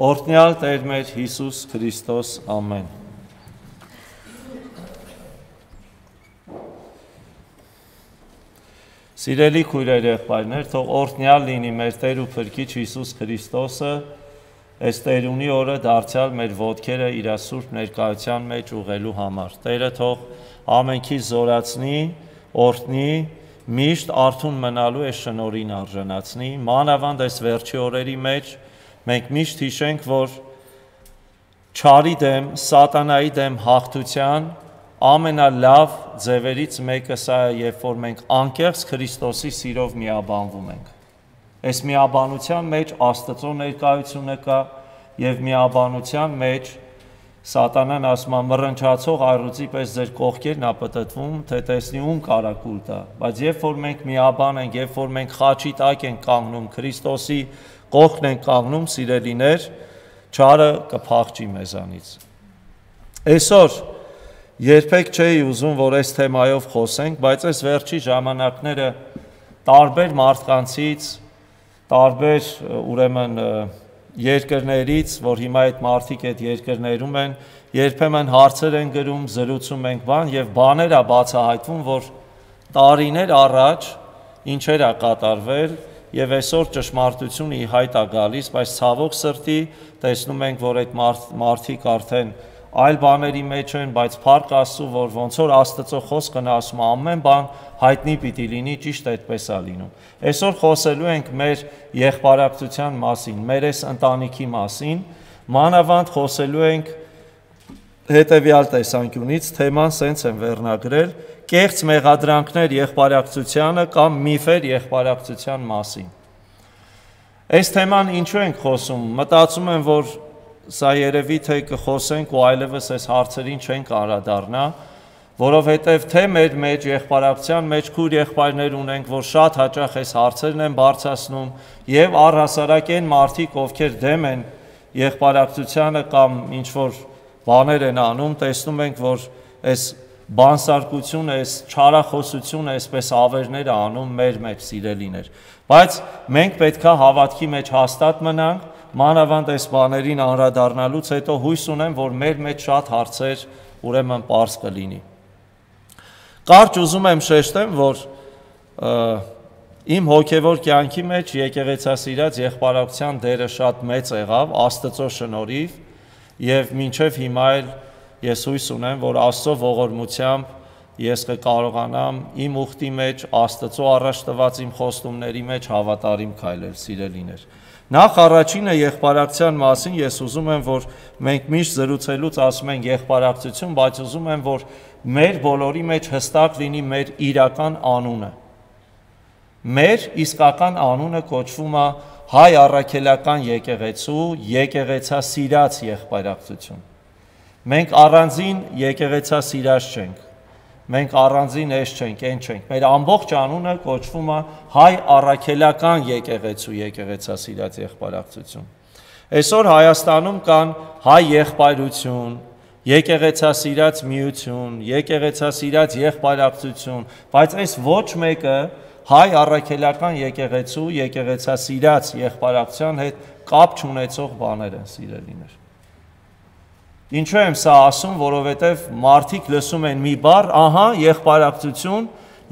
Օրհնյալ Տեր մեր Հիսուս Քրիստոս, ամեն։ Սիրելի քույրեր եղբայրներ, թող օրհնյալ լինի մեր Տեր ու Փրկիչ Հիսուս Քրիստոսը, այս Տերունի օրը դարձյալ մեր ոտքերը իր սուրբ ներկայության մեջ ուղղելու համար։ Տերը թող ամենքի զորացնի, օրհնի, միշտ արթուն մնալու այս շնորհին արժանացնի, մանավանդ այս վերջի օրերի մեջ մենք միշտ հիշենք, որ չարի դեմ, սատանայի դեմ հաղթության ամենալավ ձևերից մեկը սա է, երբ որ մենք անկեղծ Քրիստոսի սիրով միաբանվում ենք։ Այս միաբանության մեջ Աստծո ներկայությունը կա եւ միաբանության մեջ սատանան ասում է մռնչացող առյուծի պես ձեր կողքերն ապտտվում, թե տեսնի ում կարակուլ տա, բայց երբ որ մենք միաբան ենք, երբ որ մենք խաչի տակ ենք կանգնում, Քրիստոսի կողքն ենք կանգնում, սիրելիներ, չարը կփախչի մեզանից։ Այսօր երբեք չէի ուզում, որ այս թեմայով խոսենք, բայց այս վերջի ժամանակները տարբեր մարդկանցից, տարբեր ուրեմն երկրներից, որ հիմա այդ մարդիկ այդ երկրներում են, երբեմն հարցեր են գրում, զրուցում ենք բան եւ բաներ է բացահայտվում, որ տարիներ առաջ ինչեր է կատարվել եւ այսօր ճշմարտությունը ի հայտ է գալիս, բայց ցավոք սրտի տեսնում ենք, որ այդ մարդիկ արդեն այլ բաների մեջ են, բայց փառք Աստծո, որ ոնց որ Աստծո խոսքն ասում է ամեն բան հայտնի պիտի լինի, ճիշտ այդպես է լինում։ Այսօր խոսելու ենք մեր եղբայրակցության մասին, մեր այս ընտանիքի մասին, մանավանդ խոսելու ենք հետևյալ տեսանկյունից, թեման սենց են վերնագրել, կեղծ մեղադրանքներ եղբայրակցությանը կամ միֆեր եղբայրակցության մասին։ Այս թեման ինչու ենք խոսում, մտածում եմ, որ սա երևի թե կխոսենք ու այլևս այս հարցերին չենք անդրադառնա, որովհետև թե մեր մեջ եղբայրակցության մեջ քույր եղբայրներ ունենք, որ շատ հաճախ այս հարցերն են բարձրացնում եւ առհասարակ այն մարդիկ, ովքեր դեմ են եղբայրակցությանը կամ ինչ որ բաներ են անում, տեսնում ենք, որ այս բանսարկությունը, այս չարախոսությունը, այսպես ավերներ անում մեր մեջ սիրելիներ։ Բայց մենք պետքա հավատքի մեջ հաստատ մնանք, մանավանդ այս բաներին անդրադառնալուց հետո հույս ունեմ, որ մեր մեջ շատ հարցեր ուրեմն պարզ կլինի։ Կարճ ուզում եմ շեշտեմ, որ իմ հոգևոր կյանքի մեջ եկեղեցասիրած եղբայրակցության դերը շատ մեծ եղավ Աստծո շնորհիվ եւ մինչեւ հիմա էլ ես հույս ունեմ, որ Աստծո ողորմությամբ ես կկարողանամ իմ ուխտի մեջ Աստծո առաջ տված իմ խոստումների մեջ հավատարիմ քայլել, սիրելիներ։ Նախ առաջինը եղբայրակցության մասին ես ուզում եմ, որ մենք միշտ զրուցելուց ասում ենք եղբայրակցություն, բայց ուզում եմ, որ մեր բոլորի մեջ հստակ լինի մեր իրական անունը։ Մեր իսկական անունը կոչվում է հայ առաքելական եկեղեցու եկեղեցասիրած եղբայրակցություն։ Մենք առանձին եկեղեցասիրած չենք, մենք առանձին էս չենք, այն չենք, մեր ամբողջ անունը կոչվում է հայ առաքելական եկեղեցու եկեղեցասիրած եղբայրակցություն։ Այսօր Հայաստանում կան հայ եղբայրություն, եկեղեցասիրած միություն, եկեղեցասիրած եղբայրակցություն, բայց այս ոչ մեկը հայ առաքելական եկեղեցու եկեղեցասիրած եղբայրակցության հետ կապ չունեցող բաներ են, սիրելիներ։ Ինչու եմ սա ասում, որովհետև մարդիկ լսում են մի բառ, ահա, եղբայրակցություն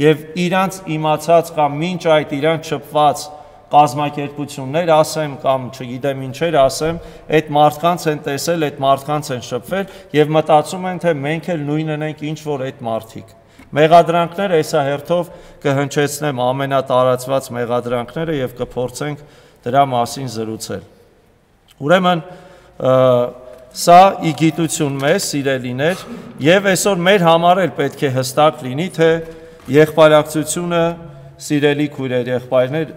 եւ իրանց իմացած կամ մինչ այդ իրանց շփված կազմակերպություններ ասեմ կամ չգիտեմ ինչեր ասեմ, այդ մարդկանց են տեսել, այդ մարդկանց են շփվել եւ մտածում են, թե մենք էլ նույնն ենք ինչ որ այդ մարդիկ։ Մեղադրանքները հեսա հերթով կհնչեցնեմ ամենատարածված մեղադրանքները եւ կփորձենք դրա մասին զրուցել։ Ուրեմն սա իգիտություն մեզ, սիրելիներ, եւ այսօր մեր համար էլ պետք է հստակ լինի, թե եղբայրակցությունը, սիրելի քույրեր, եղբայրներ,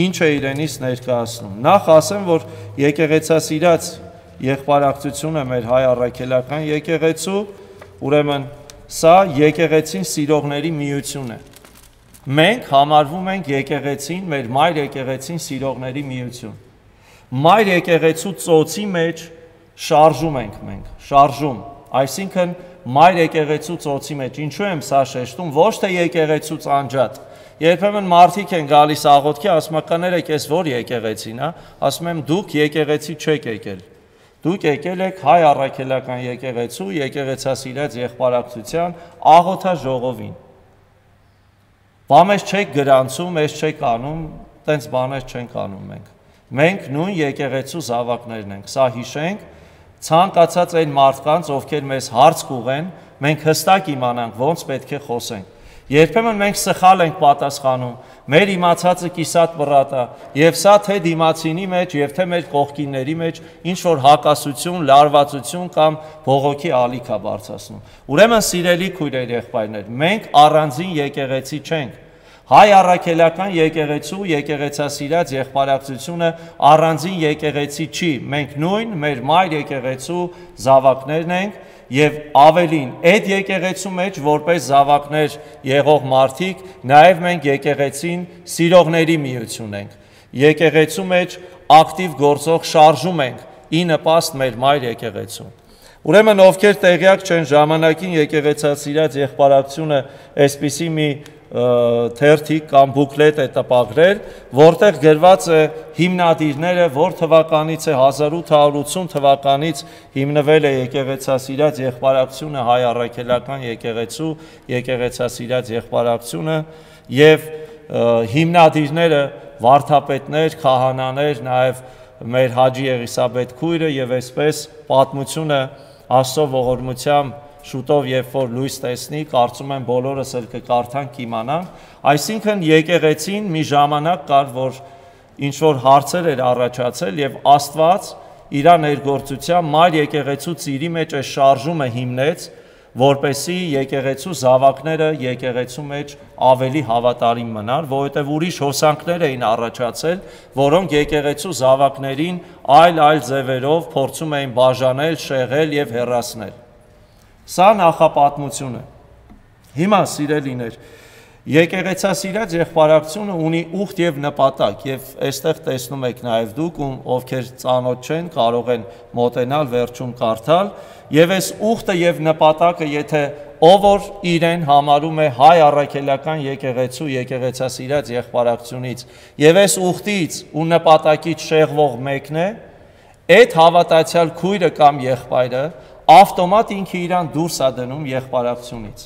ինչ է իրենից ներկայացնում։ Նախ ասեմ, որ եկեղեցասիրած եղբայրակցությունը մեր հայ առաքելական եկեղեցու, ուրեմն սա եկեղեցին սիրողների միություն է։ Մենք համարվում ենք եկեղեցին, մեր մայր եկեղեցին սիրողների միություն։ Մայր եկեղեցու ծոցի մեջ շարժում ենք մենք, շարժում, այսինքն մայր եկեղեցու ծոցի մեջ, ինչու եմ սա շեշտում, ոչ թե եկեղեցուց անջատ, երբեմն մարդիկ են գալիս աղոթքի, ասում կներեք, ես որ եկեղեցին, ասում եմ դուք եկեղեցի չեք եկել, Դուք եկել եք հայ առաքելական եկեղեցու եկեղեցասիրած եղբարակցության աղոթաժողովին։ Բա մեզ չեք գրանցում, մեզ չեք անում, տենց բաներ չենք անում մենք։ Մենք նույն եկեղեցու զավակներն ենք, սա հիշենք, ցանկացած այն մարդկանց, ովքեր մեզ հարց կուղեն, մենք հստակ իմանանք ոնց պետք է խոսենք։ Երբեմն մենք սխալ ենք պատասխանում, մեր իմացածը կիսատ բռատա, եւ սա թե դիմացինի մեջ, եւ թե մեր կողքինների մեջ ինչ որ հակասություն, լարվածություն կամ բողոքի ալիք է բարձրացնում։ Ուրեմն սիրելի քույրեր, եղբայրներ, մենք առանձին եկեղեցի չենք։ Հայ առաքելական եկեղեցու եկեղեցասիրած եղբարակցությունը առանձին եկեղեցի չի, մենք նույն մեր մայր եկեղեցու զավակներն ենք եւ ավելին, այդ եկեղեցու մեջ որպես զավակներ եղող մարդիկ, նաեւ մենք եկեղեցին սիրողների միություն ենք։ Եկեղեցու մեջ ակտիվ գործող շարժում ենք ի նպաստ մեր մայր եկեղեցու։ Ուրեմն ովքեր տեղյակ չեն ժամանակին եկեղեցասիրած եղբարակցությունը այսպիսի մի թերթիկ կամ բուկլետ է տպագրել, որտեղ գրված է հիմնադիրները, որ թվականից է 1880 թվականից հիմնվել է եկեղեցասիրած եղբարակցությունը հայ առաքելական եկեղեցու եկեղեցասիրած եղբարակցությունը եւ հիմնադիրները վարդապետներ, քահանաներ, նաեւ մեր Հաջի Եղիսաբեթ քույրը եւ այսպես պատմությունը Աստծո ողորմությամբ շուտով երբ որ լույս տեսնի, կարծում եմ բոլորս էլ կկարդանք, իմանանք, այսինքն եկեղեցին մի ժամանակ կար, որ ինչ որ հարցեր էր առաջացել եւ Աստված իր ներգործությամբ մայր եկեղեցու ծիրի մեջ է շարժումը հիմնեց, որպեսի եկեղեցու զավակները եկեղեցու մեջ ավելի հավատարիմ մնան, որովհետև ուրիշ հոսանքներ էին առաջացել, որոնք եկեղեցու զավակներին այլ ձևերով փորձում էին բաժանել, շեղել եւ հեռացնել։ Սա նախապատմությունը։ Հիմա սիրելիներ, եկեղեցասիրած եղբարակցությունը ունի ուխտ եւ նպատակ եւ այստեղ տեսնում եք նաեւ դուք, ովքեր ծանոթ չեն, կարող են մոտենալ վերջում կարդալ եւ այս ուխտը եւ նպատակը, եթե ով որ իրեն համարում է հայ առաքելական եկեղեցու եկեղեցասիրած եղբարակցությունից եւ այս ուխտից ու նպատակից շեղվող մեկն է, այդ հավատացյալ քույրը կամ եղբայրը ավտոմատ ինքը իրան դուրս է դնում եղբարակցությունից։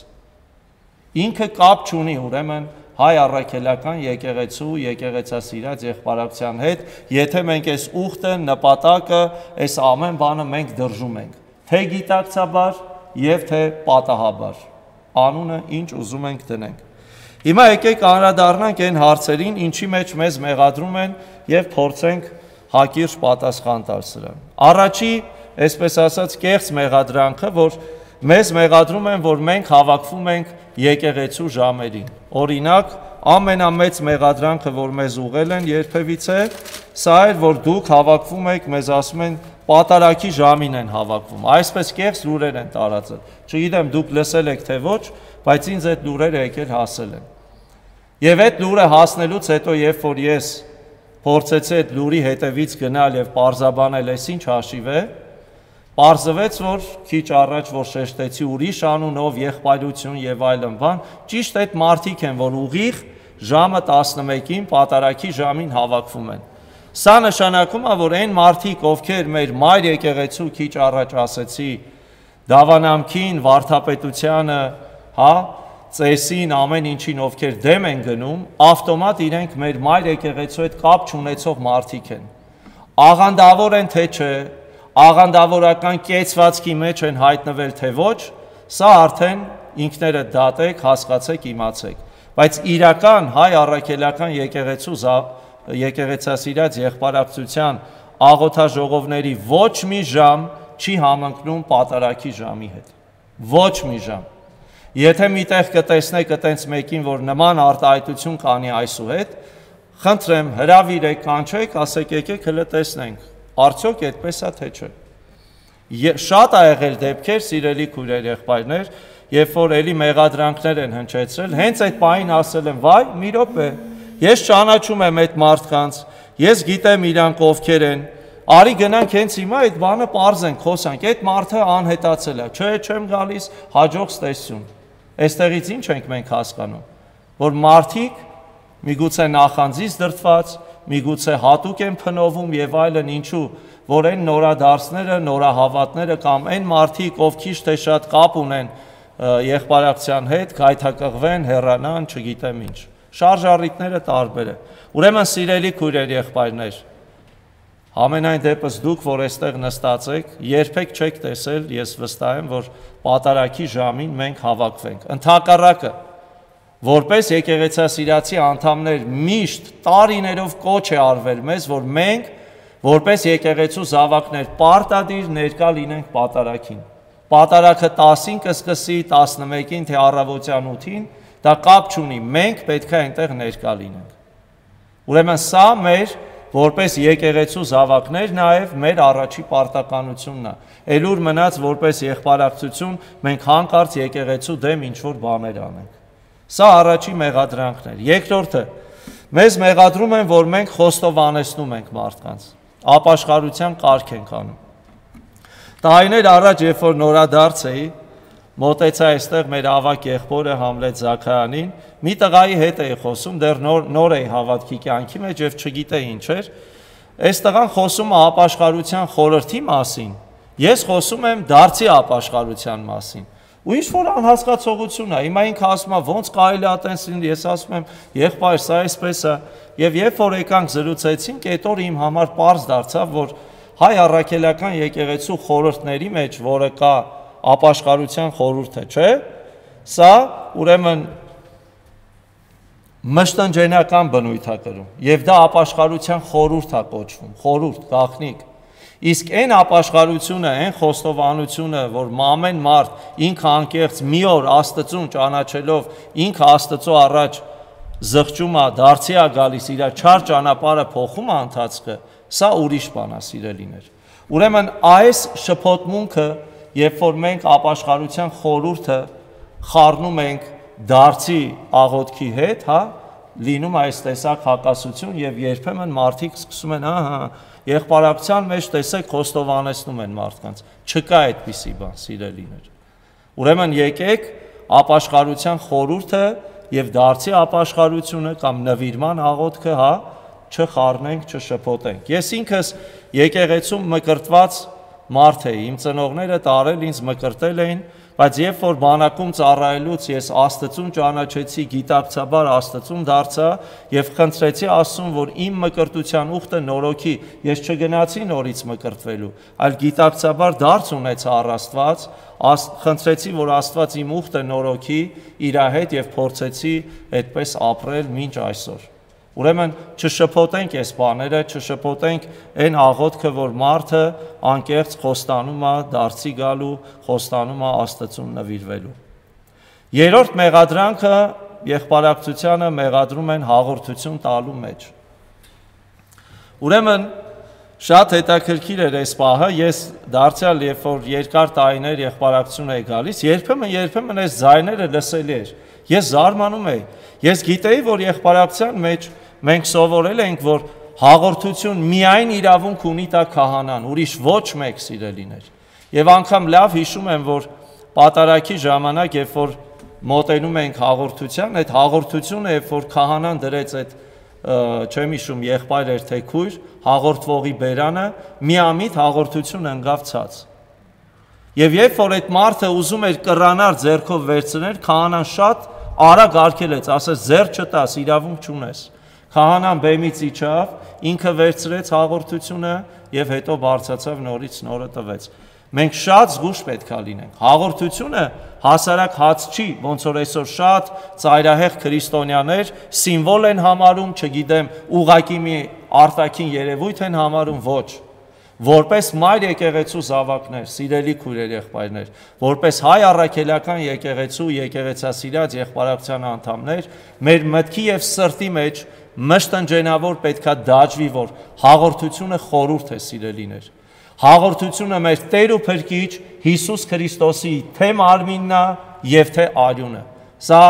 Ինքը կապ չունի ուրեմն հայ առաքելական եկեղեցու եկեղեցասիրած եղբարակցության հետ, եթե մենք այս ուխտը, նպատակը, այս ամեն բանը մենք դրժում ենք, թե գիտակցաբար եւ թե պատահաբար, անունը ինչ ուզում ենք դնենք։ Հիմա եկեք անդրադառնանք այն հարցերին, ինչի մեջ մեզ մեղադրում են եւ փորձենք հակիրճ պատասխան տալ սրան։ Առաջի, այսպես ասած, կեղծ մեղադրանքը, որ մեզ մեղադրում են, որ մենք հավաքվում ենք եկեղեցու ժամերին։ Օրինակ, ամենամեծ մեղադրանքը, որ մեզ ուղղել են երբևիցե, սա էր, որ դուք հավաքվում եք, մեզ ասում են, պատարագի ժամին են հավաքվում։ Այսպես կեղծ լուրեր են տարածել։ Չգիտեմ դուք լսել եք թե ոչ, բայց ինձ այդ լուրերը եկել հասել են։ Եվ այդ լուրը հասնելուց հետո, երբ որ ես փորձեցի այդ լուրի հետևից գնալ եւ պարզաբանել, այս ինչ հաշիվ է, պարզվեց, որ քիչ առաջ որ շեշտեցի ուրիշ անունով եղբայրություն եւ այլն բան, ճիշտ այդ մարդիկ են, որ ուղիղ ժամը 11-ին պատարագի ժամին հավաքվում են։ Սա նշանակում է, որ այն մարդիկ, ովքեր մեր մայր եկեղեցու քիչ առաջ ասեցի, դավանամքին, վարդապետությանը, ծեսին, ամեն ինչին, ովքեր դեմ են գնում, ավտոմատ իրենք մեր մայր եկեղեցու հետ կապ չունեցող մարդիկ են։ Աղանդավոր են թե չէ, աղանդավորական կեցվածքի մեջ են հայտնվել թե ոչ, սա արդեն ինքներդ դատեք, հասկացեք, իմացեք։ Բայց իրական հայ առաքելական եկեղեցու եկեղեցասիրած եղբարակցության աղոթաժողովների ոչ մի ժամ չի համընկնում պատարագի ժամի հետ։ Ոչ մի ժամ։ Եթե միտեղ կտեսնեք այտենց մեկին, որ նման արտահայտություն կանի այսուհետ, խնդրեմ հրավիրեք, կանչեք, ասեք եկեք հլը տեսնենք, արդյոք այդպես է թե չէ։ Շատ ա եղել դեպքեր, սիրելի քույրեր, եղբայրներ, երբ որ էլի մեղադրանքներ են հնչեցրել, հենց այդ պահին ասել են, վայ, մի րոպե, ես ճանաչում եմ այդ մարդկանց, ես գիտեմ իրանք ովքեր են, արի գնանք հենց հիմա այդ բանը պարզենք, խոսանք, այդ մարդը անհետացել է, չէ, չեմ գալիս, հաջող ստեսություն։ Այստեղից ինչ ենք մենք հասկանում, որ մարդիկ միգուցե նախանձից դրդված, միգուցե հատուկ են փնովում եւ այլն, ինչու, որ այն նորադարձները, նորահավատները կամ այն մարդիկ, ով քիչ թե շատ կապ ունեն եղբայրակցության հետ, գայթակղվեն, հեռանան, չգիտեմ ինչ։ Շարժառիթները տարբեր է։ Ուրեմն սիրելի քույրեր, եղբայրներ, ամենայն դեպս դուք, որ այստեղ նստած եք, երբեք չեք տեսել, ես վստահ եմ, որ պատարագի ժամին մենք հավաքվենք։ Ընդհակառակը, որպես եկեղեցասիրացի անդամներ, միշտ տարիներով կոչ է արվել մեզ, որ մենք, որպես եկեղեցու զավակներ, պարտադիր ներկա լինենք պատարագին։ Պատարագը 10-ին կսկսի, 11-ին, թե առավոտյան 8-ին, դա կապ չունի, մենք պետք է այնտեղ ներկա լինենք։ Ուրեմն սա մեր որպես եկեղեցու զավակներ նաև մեր առաջի պարտականությունն է։ Էլուր մնաց որպես եղբայրակցություն մենք հանկարծ եկեղեցու դեմ ինչ-որ բաներ անենք։ Սա առաջի մեղադրանքն էր։ Երկրորդը, մեզ մեղադրում են, որ մենք խոստովանեցնում ենք մարդկանց, ապաշխարության կարգ ենք անում։ Տարիներ առաջ, երբ որ նորադարձ էի, մոտեցա այստեղ մեր ավակ եղբորը Համլետ Զաքարյանին, մի տղայի հետ էի խոսում, դեռ նոր էի հավատքի կյանքի մեջ եւ չգիտեի ինչ էր։ Այս տղան խոսում է ապաշխարության խորհրդի մասին, ես խոսում եմ դարձի ապաշխարության մասին։ Ու ինչ որ անհասկացողություն է, հիմա ինքը ասում է ոնց կարելի է այտենց լինի, ես ասում եմ եղբայր, սա այսպես է։ Եվ երբ որ եկանք զրուցեցինք, այդ օրը իմ համար պարզ դարձավ, որ հայ առաքելական եկեղեցու խորհրդների մեջ, որը կա ապաշխարության խորհուրդը, չէ՞։ Սա ուրեմն մշտնջենական բնույթ է կրում, եւ դա ապաշխարության խորհուրդ է կոչվում, խորհուրդ, գաղտնիք։ Իսկ այն ապաշխարությունը, այն խոստովանությունը, որ ամեն մարդ ինքը անկեղծ մի օր Աստծուն ճանաչելով, ինքը Աստծո առաջ զղջում է, դարձի է գալիս, իր չար ճանապարհը փոխում է ընթացքը, սա ուրիշ բան է, սիրելիներ։ Ուրեմն այս շփոթմունքը, երբ որ մենք ապաշխարության խորհուրդը խառնում ենք դարձի աղոթքի հետ, հա, լինում այս տեսակ հակասություն եւ երբեմն մարդիկ սկսում են, ահա, եղբայրակցության մեջ տեսեք խոստովանեցնում են մարդկանց։ Չկա այդպիսի բան, սիրելիներ։ Ուրեմն եկեք ապաշխարության խորհուրդը եւ դարձի ապաշխարությունը կամ նվիրման աղոթքը, հա, չխառնենք, չշփոթենք։ Ես ինքս եկեղեցում մկրտված մարդ էի, իմ ծնողները տարել ինձ մկրտել էին, բայց երբ որ բանակում ծառայելուց ես Աստծուն ճանաչեցի, գիտակցաբար Աստծուն դարձա եւ խնդրեցի Աստծուն, որ իմ մկրտության ուխտը նորոգի, ես չգնացի նորից մկրտվելու, այլ գիտակցաբար դարձ ունեցա առ Աստված, խնդրեցի, որ Աստված իմ ուխտը նորոգի իր հետ եւ փորձեցի այդպես ապրել մինչ այսօր։ Ուրեմն չշփոթենք այս բաները, չշփոթենք այն աղոթքը, որ մարդը անկեղծ խոստանում է դարձի գալու, խոստանում է Աստծուն նվիրվելու։ Երրորդ մեղադրանքը եղբայրակցությանը մեղադրում են հաղորդություն տալու մեջ։ Ուրեմն շատ հետաքրքիր էր այս պահը, ես դարձյալ երբ որ երկար տարիներ եղբայրակցություն էի գալիս, երբեմն այս ձայները լսելի էր։ Ես զարմանում էի։ Ես գիտեի, որ եղբայրակցության մեջ մենք սովորել ենք, որ հաղորդություն միայն իրավունք ունի տա քահանան, ուրիշ ոչ մեկ, սիրելիներ։ Եվ անգամ լավ հիշում եմ, որ պատարագի ժամանակ, երբ որ մոտենում ենք հաղորդության, այդ հաղորդությունը, երբ որ քահանան դրեց այդ չեմ հիշում եղբայր էր թե քույր, հաղորդվողի բերանը, միամիտ հաղորդություն ընկավ ցած։ Եվ երբ որ այդ մարդը ուզում էր կռանար ձեռքով վերցնել, քահանան շատ արագ արգելեց, ասեց ձեռք չտաս, իրավունք չունես։ Քահանան բեմից իջավ, ինքը վերցրեց հաղորդությունը եւ հետո բարձրացավ նորից նորը տվեց։ Մենք շատ զգուշ պետք է լինենք։ Հաղորդությունը հասարակ հաց չի, ոնց որ այսօր շատ ծայրահեղ քրիստոնյաներ սիմվոլ են համարում, չգիտեմ, ուղակի մի արտաքին երևույթ են համարում, ոչ։ Որպես մայր եկեղեցու զավակներ, սիրելի քույրեր, եղբայրներ, որպես հայ առաքելական եկեղեցու եկեղեցասիրած եղբայրակցության անդամներ, մեր մտքի եւ սրտի մեջ մշտնջենավոր պետքա դաջվի, որ հաղորդությունը խորհուրդ է, սիրելիներ։ Հաղորդությունը մեր Տեր ու Փրկիչ Հիսուս Քրիստոսի թե մարմինն է եւ թե արյունը։ Սա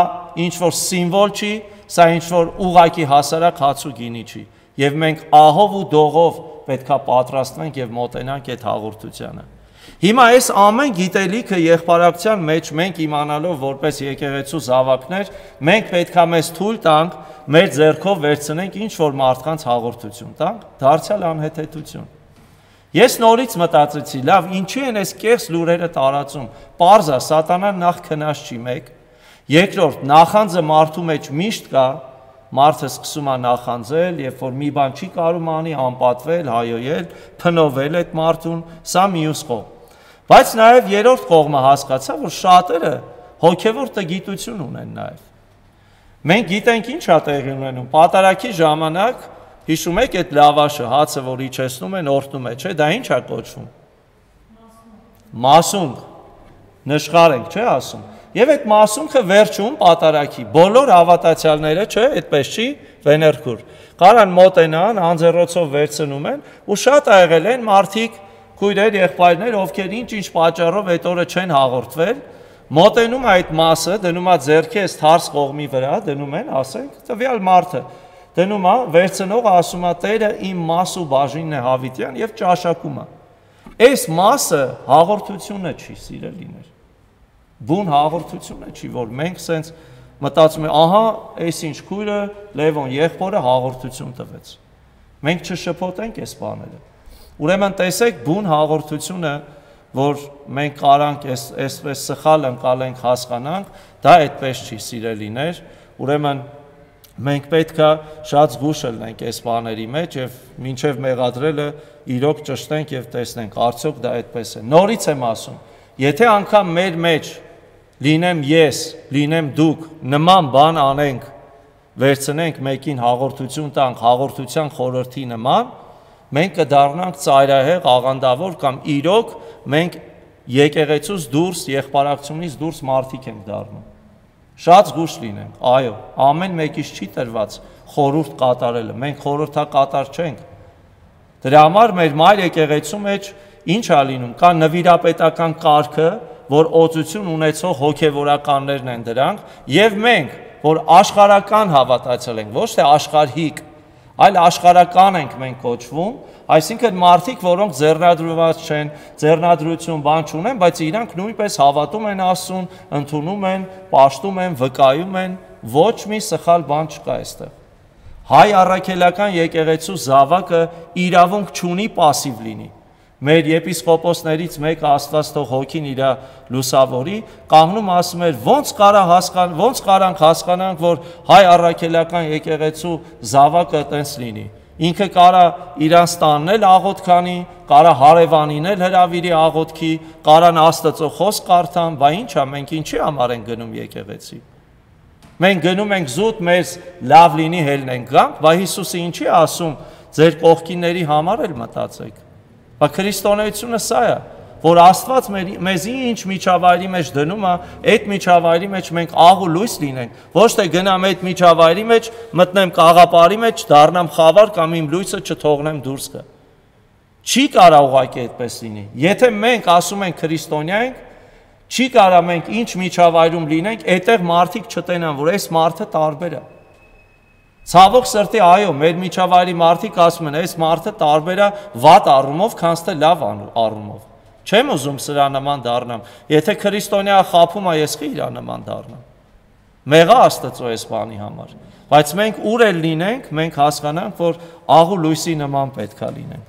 ինչ որ սիմվոլ չի, սա ինչ որ ուղակի հասարակ հաց ու գինի չի։ Եվ մենք ահով ու դողով պետքա պատրաստվենք եւ մոտենանք այդ հաղորդությանը։ Հիմա այս ամեն գիտելիքը եղբարակցության մեջ մենք իմանալով որպես եկեղեցու զավակներ, մենք պետք է մեզ թույլ տանք մեր ձեռքով վերցնենք ինչ որ մարդկանց հաղորդություն տանք, դարձյալ անհեթեթություն։ Ես նորից մտածեցի, լավ, ինչի են այս կեղծ լուրերը տարածում։ Պարզա, սատանան նախ քնած չի մեկ, երկրորդ նախանձը մարդու մեջ միշտ կա, մարդը սկսում է նախանձել, երբ որ մի բան չի կարում անի, անպատվել, հայոյել, փնովել այդ մարդուն, սա մյուս կողմ։ Բայց նաև երրորդ կողմը հասկացա, որ շատերը հոգևոր տգիտություն ունեն նաև։ Մենք գիտենք ինչ է տեղի ունենում, պատարագի ժամանակ, հիշում եք այդ լավաշը, հացը, որ իջեցնում են, օրհնում է, չէ՞, դա ինչ է կոչվում։ Մասունք, նշխար ենք, չէ՞ ասում։ Եվ այդ մասունքը վերջում պատարագի, բոլոր հավատացյալները, չէ, այդպես չի, վեներքուր։ Կարան մոտենան, անձեռոցով վերցնում են, ու շատ ա եղել են մարդիկ, քույրեր, եղբայրներ, ովքեր ինչ պատճառով այդ օրը չեն հաղորդվել, մոտենում է այդ մասը, դնում է ձեռքի այս թարս կողմի վրա, դնում են, ասենք, տվյալ մարդը, դնում է, վերցնող ասում է, Տերը իմ մաս ու բաժինն է հավիտյան եւ ճաշակում է։ Այս մասը հաղորդությունը չի, սիրելիներ։ Բուն հաղորդությունը չի, որ մենք սենց մտածում ենք, ահա, այս ինչ քույրը Լևոն եղբորը հաղորդություն տվեց։ Մենք չշփոթենք այս բաները։ Ուրեմն տեսեք բուն հաղորդությունը, որ մենք կարանք այսպես սխալ ընկալենք, հասկանանք, դա այդպես չի, սիրելիներ, ուրեմն մենք պետք է շատ զգուշ լինենք այս բաների մեջ եւ մինչեւ մեղադրելը իրոք ճշտենք եւ տեսնենք, արդյոք դա այդպես է։ Նորից եմ ասում, եթե անգամ մեր մեջ լինեմ ես, լինեմ դուք, նման բան անենք, վերցնենք մեկին հաղորդություն տանք, հաղորդության խորհրդի նման, մենք կդառնանք ծայրահեղ, աղանդավոր կամ իրոք մենք եկեղեցուց դուրս, եղբարակցությունից դուրս մարդիկ ենք դառնում։ Շատ զգուշ լինենք, այո, ամեն մեկից չի տրված խորհուրդ կատարելը, մենք խորհրդակատար չենք։ Դրա համար մեր մայր եկեղեցու մեջ ինչ է լինում, կա նվիրապետական կարգը, որ օծություն ունեցող հոգևորականներն են դրանք, եւ մենք, որ աշխարհական հավատացել ենք, ոչ թե աշխարհիկ, այլ աշխարհական ենք մենք կոչվում, այսինքն մարդիկ, որոնք ձեռնադրված չեն, ձեռնադրություն բան չունեն, բայց իրանք նույնպես հավատում են Աստծուն, ընդունում են, պաշտում են, վկայում են, ոչ մի սխալ բան չկա այստեղ։ Հայ առաքելական եկեղեցու զավակը իրավունք չունի пассив լինի։ Մեր եպիսկոպոսներից մեկը Աստված թող հոգին իր լուսավորի, կանգնում ասում էր, ոնց կարանք հասկանանք, որ հայ առաքելական եկեղեցու զավակը տենց լինի։ Ինքը կարա իրան ստաննել աղոթքանի, կարա հարևանին էլ հրավիրի աղոթքի, կարան Աստծո խոսք կարդան, բա ի՞նչ է, մենք ինչի համար ենք գնում եկեղեցի։ Մենք գնում ենք զուտ մեզ լավ լինի հելնենք գանք, բա Հիսուսը ինչի ասում, ձեր կողքինների համար էլ մտածեք։ Բա քրիստոնեությունը սա է, որ Աստված մեզի ինչ միջավայրի մեջ դնում է, այդ միջավայրի մեջ մենք աղ ու լույս լինենք, ոչ թե գնամ այդ միջավայրի մեջ, մտնեմ կաղապարի մեջ, դառնամ խավար կամ իմ լույսը չթողնեմ դուրս գա։ Չի կարա ուղղակի այդպես լինի։ Եթե մենք ասում ենք քրիստոնյա ենք, չի կարա մենք ինչ միջավայրում լինենք, այդտեղ մարդիկ չտենան, որ այս մարդը տարբեր է։ Ցավոք սրտի, այո, մեր միջավայրի մարդիկ ասում են, այս մարդը տարբեր է վատ առումով, քան թե լավ առումով։ Չեմ ուզում սրա նման դառնամ։ Եթե քրիստոնյա խափում է, ես խի իրա նման դառնամ։ Մեղա Աստծո այս բանի համար։ Բայց մենք ուր էլ լինենք, մենք հասկանանք, որ աղու լույսի նման պետք է լինենք։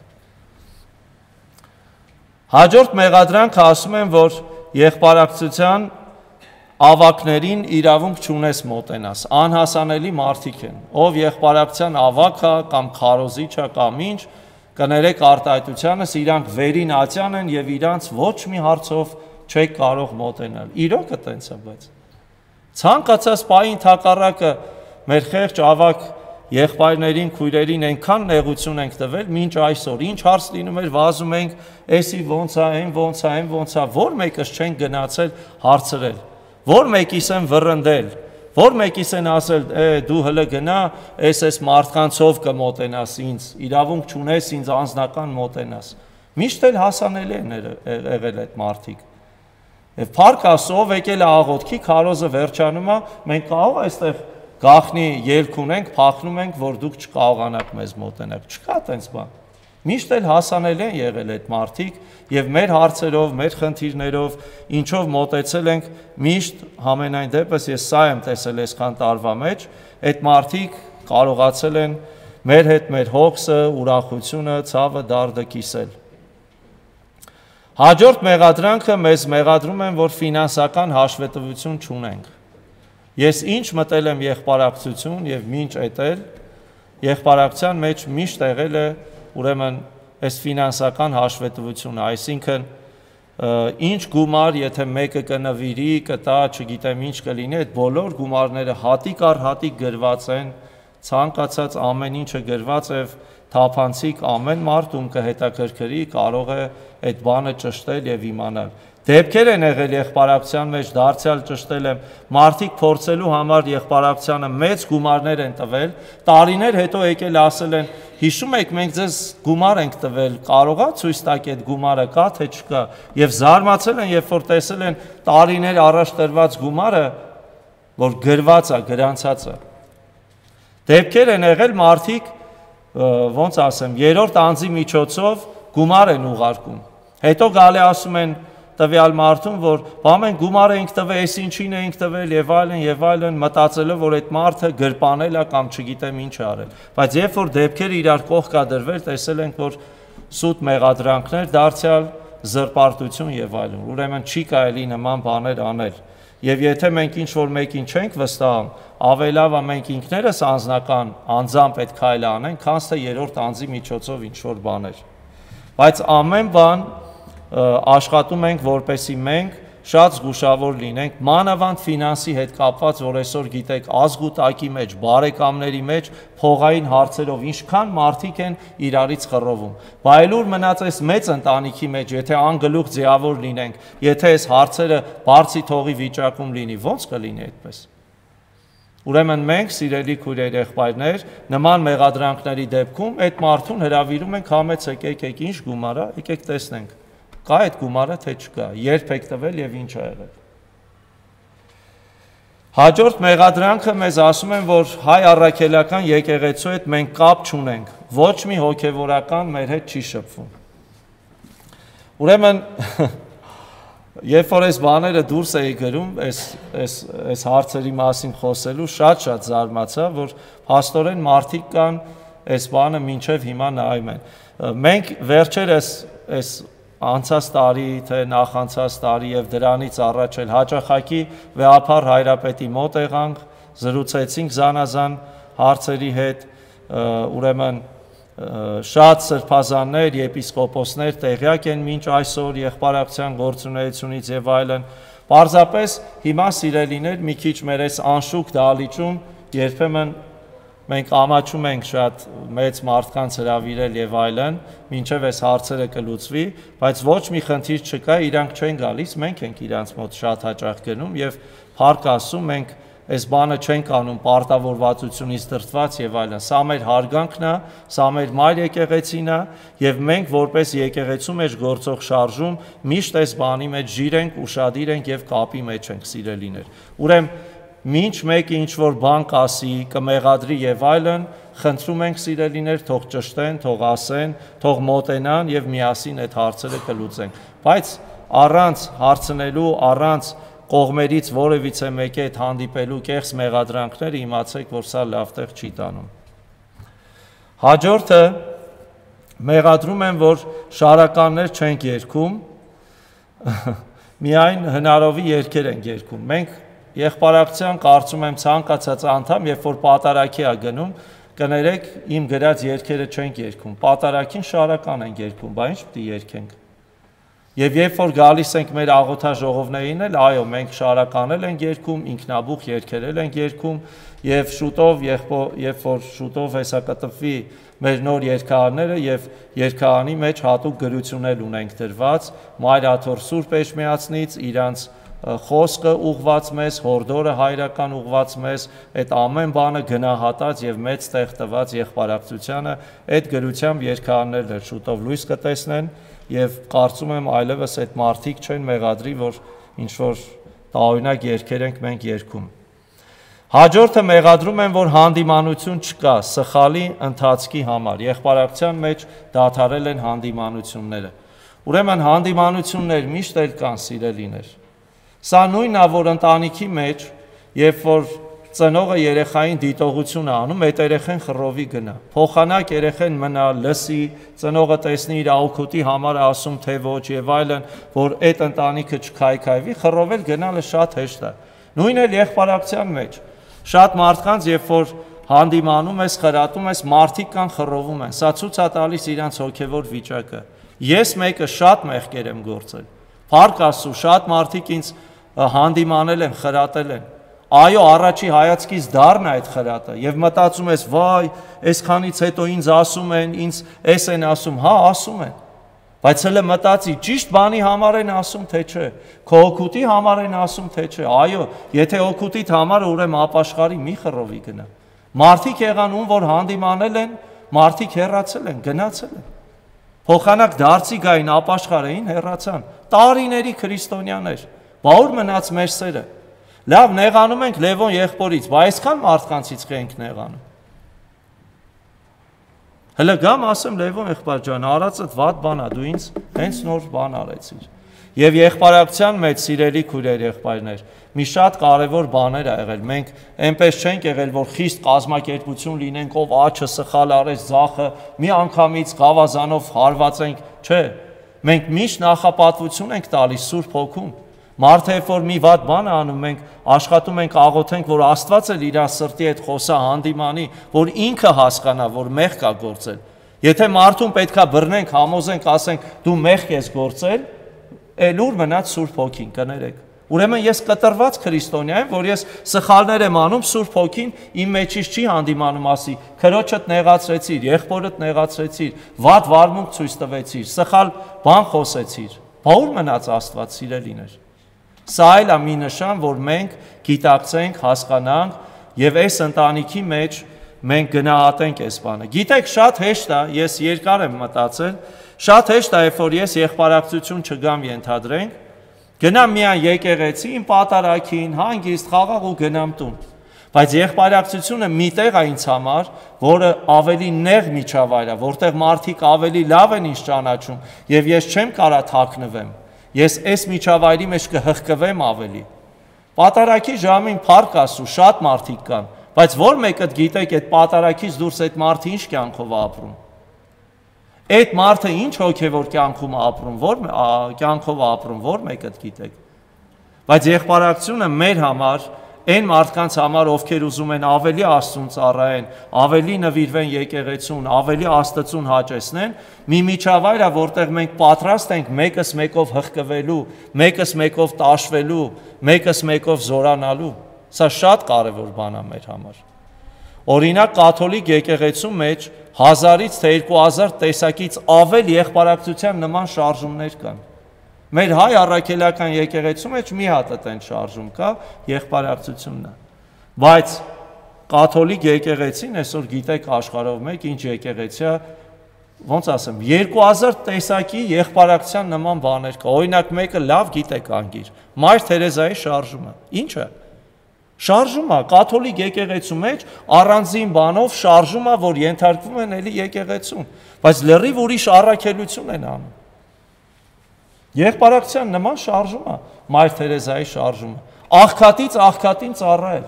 Հաջորդ մեղադրանքը ասում են, որ եղբարակցության ավակներին իրավունք չունես մոտենաս, անհասանելի մարդիկ են, ով եղբարակցության ավակ է կամ քարոզիչ է կամ ինչ, կներեք արտահայտությանս, իրանք վերին ատյան են եւ իրանց ոչ մի հարցով չեք կարող մոտենալ։ Իրոք է տենց է, բայց ցանկացած պահին թակառակը մեր խեղճ ավակ եղբայրներին, քույրերին այնքան նեղություն ենք տվել, մինչ այսօր ինչ հարց լինում էր, վազում ենք, էսի ոնց է, այն ոնց է, այն ոնց է, որ մեկս չեն գնացել հարցրել, որ մեկիս են վռնդել, որ մեկիս են ասել, դու հələ գնա, այս մարդկանցով կմոտենաս ինձ, իրավունք չունես ինձ անձնական մոտենաս։ Միշտ էլ հասանելի են եղել այդ մարդիկ։ Եվ փառք Աստծո, եկել է աղոթքի, քարոզը վերջանում է, մենք կարող այստեղ գախնի ելք ունենք, փախնում ենք, որ դուք չկարողանաք մեզ մոտենալ։ Չկա տենց բան։ Միշտ էլ հասանել են եղել այդ մարդիկ եւ մեր հարցերով, մեր խնդիրներով, ինչով մոտեցել ենք, միշտ համենայն դեպս ես սա եմ տեսել այսքան տարվա մեջ, այդ մարդիկ կարողացել են մեր հետ մեր հոգսը, ուրախությունը, ցավը, դարդը կիսել։ Հաջորդ մեղադրանքը մեզ մեղադրում են, որ ֆինանսական հաշվետվություն չունենք։ Ես ինչ մտել եմ եղբարակցություն եւ մինչ էտել, եղբարակցության մեջ միշտ եղել է ուրեմն այս ֆինանսական հաշվետվությունը, այսինքն ինչ գումար, եթե մեկը կնվիրի, կտա, չգիտեմ ինչ կլինի, այդ բոլոր գումարները հատիկ առ հատիկ գրված են, ցանկացած ամեն ինչը գրված է, թափանցիկ ամեն մարդ ում կհետաքրքրի կարող է այդ բանը ճշտել եւ իմանալ։ Դեպքեր են եղել եղբարակցության մեջ, դարձյալ ճշտել եմ, մարդիկ փորձելու համար եղբարակցությանը մեծ գումարներ են տվել, տարիներ հետո եկել ասել են, հիշում եք մենք ձեզ գումար ենք տվել, կարողա ցույց տաք այդ գումարը կա թե չկա, եւ զարմացել են, երբ որ տեսել են տարիներ առաջ տրված գումարը, որ գրված է, գրանցած է։ Դեպքեր են եղել մարդիկ, ոնց ասեմ, երրորդ անձի միջոցով գումար են ուղարկում։ Հետո գալի ասում են տվյալ մարդուն, որ բա մենք գումար ենք տվել, այս ինչին ենք տվել եւ այլն, մտածելով, որ այդ մարդը գրպանել է կամ չգիտեմ ինչ արել։ Բայց երբ որ դեպքերը իրար կողքադրվել, տեսել ենք, որ սուտ մեղադրանքներ դարձյալ զրպարտություն եւ այլն։ Ուրեմն չի կարելի նման բաներ անել։ Եվ եթե մենք ինչ-որ մեկին չենք վստահում, ավելավ է մենք ինքներս անձնական անձամբ այդ քայլը անենք, քան թե երրորդ անձի միջոցով ինչ-որ բաներ։ Բայց ամեն բան աշխատում ենք, որպեսզի մենք շատ զգուշավոր լինենք, մանավանդ ֆինանսի հետ կապված, որ այսօր գիտեք, ազգուտակի մեջ, բարեկամների մեջ, փողային հարցերով ինչքան մարդիկ են իրարից խռովում։ Բայլուր մնաց այս մեծ ընտանիքի մեջ, եթե անգլուխ ձևավոր լինենք, եթե այս հարցերը բարձի թողի վիճակում լինի, ո՞նց կլինի այդպես։ Ուրեմն մենք, սիրելի քույրեր, եղբայրներ, նման մեղադրանքների դեպքում այդ մարդուն հրավիրում ենք, համեցեք, եկեք ինչ գումար է, եկեք տեսնենք։ Կա այդ գումարը թե չկա, երբ եք տվել եւ ինչ ա եղել։ Հաջորդ մեղադրանքը մեզ ասում են, որ հայ առաքելական եկեղեցու հետ մենք կապ չունենք, ոչ մի հոգևորական մեր հետ չի շփվում։ Ուրեմն երբ որ այս բաները դուրս էի գրում, այս հարցերի մասին խոսելու, շատ զարմացա, որ փաստորեն մարդիկ կան այս բանը մինչև հիմա նայում են։ Մենք վերջերս այս անցած տարի, թե նախանցած տարի եւ դրանից առաջ էլ հաճախակի վեհափառ հայրապետի մոտ եղանք, զրուցեցինք զանազան հարցերի հետ, ուրեմն շատ սրբազաններ, եպիսկոպոսներ տեղյակ են մինչ այսօր եղբարակցության գործունեությունից եւ այլն։ Պարզապես հիմա սիրելիներ մի քիչ մեր այս անշուք դահլիճում երբեմն մենք ամաչում ենք շատ մեծ մարդկանց հրավիրել եւ այլն, մինչեւ այս հարցերը կլուծվի, բայց ոչ մի խնդիր չկա, իրանք չեն գալիս, մենք ենք իրանց մոտ շատ հաճախ գնում եւ փառք Աստծո մենք այս բանը չենք անում պարտավորվածությունից դրդված եւ այլն։ Սա մեր հարգանքն է, սա մեր մայր եկեղեցին է եւ մենք որպես եկեղեցու մեջ գործող շարժում միշտ այս բանի մեջ ժիր ենք, ուշադիր ենք եւ կապի մեջ ենք, սիրելիներ։ Ուրեմն մինչ մեկը ինչ-որ բան կասի, կմեղադրի եւ այլն, խնդրում ենք սիրելիներ, թող ճշտեն, թող ասեն, թող մոտենան եւ միասին այդ հարցերը կլուծենք։ Բայց առանց հարցնելու, առանց կողմերից որևիցե մեկի հետ հանդիպելու կեղծ մեղադրանքները իմացեք, որ սա լավ տեղ չի տանում։ Հաջորդը մեղադրում են, որ շարականներ չենք երգում, միայն հնարովի երգեր ենք երգում։ Մենք եղբարակցության կարծում եմ ցանկացած անդամ, երբ որ պատարագի է գնում, կներեք իմ գրած երգերը չենք երգում, պատարագին շարական ենք երգում, բա ինչ պիտի երգենք։ Եվ երբ որ գալիս ենք մեր աղոթաժողովներին էլ, այո, մենք շարականել ենք երգում, ինքնաբուխ երգերել ենք երգում, եւ շուտով, երբ որ շուտով հեսա կտպվի մեր նոր երգահարները եւ երգահանի մեջ հատուկ գրություններ ունենք դրված, Մայր Աթոռ Սուրբ Էջմիածնից իրանց խոսքը ուղված մեզ, հորդորը հայրական ուղված մեզ, այդ ամեն բանը գնահատած եւ մեծ տեղ տված եղբարակցությանը, այդ գրությամբ երգահարներն շուտով լույս կտեսնեն եւ կարծում եմ այլևս այդ մարդիկ չեն մեղադրի, որ ինչ որ տարօրինակ երգեր ենք մենք երգում։ Հաջորդը մեղադրում են, որ հանդիմանություն չկա սխալի ընթացքի համար։ Եղբարակցության մեջ դադարել են հանդիմանությունները։ Ուրեմն հանդիմանություններ միշտ էլ կան, սիրելիներ։ Սա նույնն է, որ ընտանիքի մեջ, երբ որ ծնողը երեխային դիտողություն է անում, այդ երեխան խռովի գնա։ Փոխանակ երեխան մնա, լսի, ծնողը տեսնի իր աուքուտի համար ասում թե ոչ եւ այլն, որ այդ ընտանիքը չքայքայվի, խռովել գնալը շատ հեշտ է։ Նույնն էլ եղբարակցության մեջ։ Շատ մարդկանց, երբ որ հանդիմանում ես, խրատում ես, մարդիկ կան խռովում են։ Սա ցույց է տալիս իրանց հոգևոր վիճակը։ Ես մեկը շատ մեղքեր եմ գործել։ Փառք Աստծո, շատ մարդիկ ինձ հանդիմանել են, խրատել են։ Այո, առաջի հայացքից դառն է այդ խրատը եւ մտածում ես, վայ, այսքանից հետո ինձ ասում են, ինձ էս են ասում, հա, ասում են։ Բայց հələ մտածի, ճիշտ բանի համար են ասում, թե չէ։ Քո օգուտի համար են ասում, թե չէ։ Այո, եթե օգուտիդ համար է, ուրեմն ապաշխարի մի խռովի գնա։ Մարդիկ եղան, ում որ հանդիմանել են, մարդիկ հեռացել են, գնացել են։ Փոխանակ դարձի գային, ապաշխար էին, հեռացան։ Տարիների քրիստոնյաներ։ Բա ուր մնաց մեր սերը։ Լավ, նեղանում ենք Լևոն եղբորից, բայց այսքան մարդկանցից ենք նեղանում։ Հələ գամ ասեմ Լևոն եղբայր ջան, արածդ վատ բան է, դու ինձ հենց նոր բան արեցիր։ Եվ եղբարակցության մեջ սիրելի քույրեր, եղբայրներ, մի շատ կարևոր բաներ ա եղել։ Մենք այնպես չենք եղել, որ խիստ կազմակերպություն լինենք, ով աչը սխալ արեց, ձախը մի անգամից գավազանով հարվածենք, չէ։ Մենք միշտ նախապատվություն ենք տալիս Սուրբ Հոգուն։ Մարդը երբ որ մի վատ բան անում, մենք աշխատում ենք աղոթենք, որ Աստված էլ իր սրտի հետ խոսա հանդիմանի, որ ինքը հասկանա, որ մեղք կա գործել։ Եթե մարդուն պետքա բռնենք, համոզենք, ասենք դու մեղք ես գործել, էլ ուր մնաց Սուրբ Հոգին, կներեք։ Ուրեմն ես կտրված քրիստոնյա եմ, որ ես սխալներ եմ անում, Սուրբ Հոգին իմ մեջից չի հանդիմանում, ասի, քրոջդ նեղացրեցիր, եղբորդ նեղացրեցիր, վատ վարմունք ցույց տվեցիր, սխալ բան խոսեցիր։ Բա ուր մնաց Աստված, սիրելիներ։ Սա էլ է մի նշան, որ մենք գիտակցենք, հասկանանք եւ այս ընտանիքի մեջ մենք գնահատենք այս բանը։ Գիտեք, շատ հեշտ է, ես երկար եմ մտածել, շատ հեշտ է, երբ որ ես եղբարակցություն չգամ ենթադրենք, գնամ միայն եկեղեցի, իմ պատարագին, հանգիստ խաղաղ ու գնամ տուն։ Բայց եղբարակցությունը մի տեղ է ինձ համար, որը ավելի նեղ միջավայր է, որտեղ մարդիկ ավելի լավ են ինձ ճանաչում եւ ես չեմ կարա թաքնվեմ։ Ես այս միջավայրի մեջ կհղկվեմ ավելի։ Պատարագի ժամին փառք Աստծո, շատ մարդիկ կան, բայց որ մեկը գիտեք այդ պատարագից դուրս այդ մարդը ինչ կյանքով է ապրում։ Այդ մարդը ինչ հոգևոր կյանքում է ապրում, որ կյանքով է ապրում, որ մեկը գիտեք։ Բայց եղբարակցությունը մեր համար, այն մարդկանց համար, ովքեր ուզում են ավելի Աստծուն ծառայեն, ավելի նվիրվեն եկեղեցուն, ավելի Աստծուն հաճեսնեն, մի միջավայր է, որտեղ մենք պատրաստ ենք մեկս մեկով հղկվելու, մեկս մեկով տաշվելու, մեկս մեկով զորանալու։ Սա շատ կարևոր բան է մեր համար։ Օրինակ կաթոլիկ եկեղեցու մեջ 1000-ից թե 2000 տեսակից ավել եղբարակցության նման շարժումներ կան։ Մեր հայ առաքելական եկեղեցու մեջ մի հատ այդեն շարժում կա, եղբարակցությունն է։ Բայց կաթոլիկ եկեղեցին այսօր գիտեք աշխարհով մեկ ինչ եկեղեցի է, ոնց ասեմ, 2000 տեսակի եղբարակցության նման բաներ կա։ Օրինակ մեկը լավ գիտեք անգիր, Մայր Թերեզայի շարժումը։ Ինչ է։ Շարժում է կաթոլիկ եկեղեցու մեջ առանձին բանով շարժում է, որ ենթարկվում են էլի եկեղեցուն, բայց լրիվ ուրիշ առաքելություն են անում։ Եղբարակցության նման շարժում է, Մայր Թերեզայի շարժումը, աղքատից աղքատին ծառայել։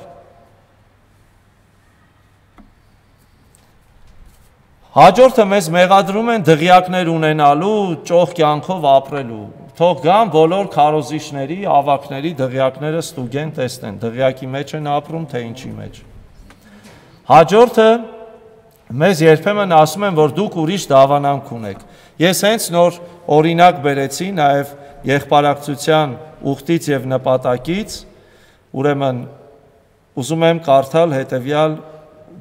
Հաջորդը մեզ մեղադրում են դղյակներ ունենալու, ճոխ կյանքով ապրելու։ Թող գան բոլոր քարոզիչների, ավակների դղյակները ստուգեն տեսնեն, դղյակի մեջ են ապրում, թե ինչի մեջ։ Հաջորդը մեզ երբեմն ասում են, որ դուք ուրիշ դավանանք ունեք։ Ես հենց նոր օրինակ բերեցի նաև եղբարակցության ուխտից եւ նպատակից, ուրեմն ուզում եմ կարդալ հետեւյալ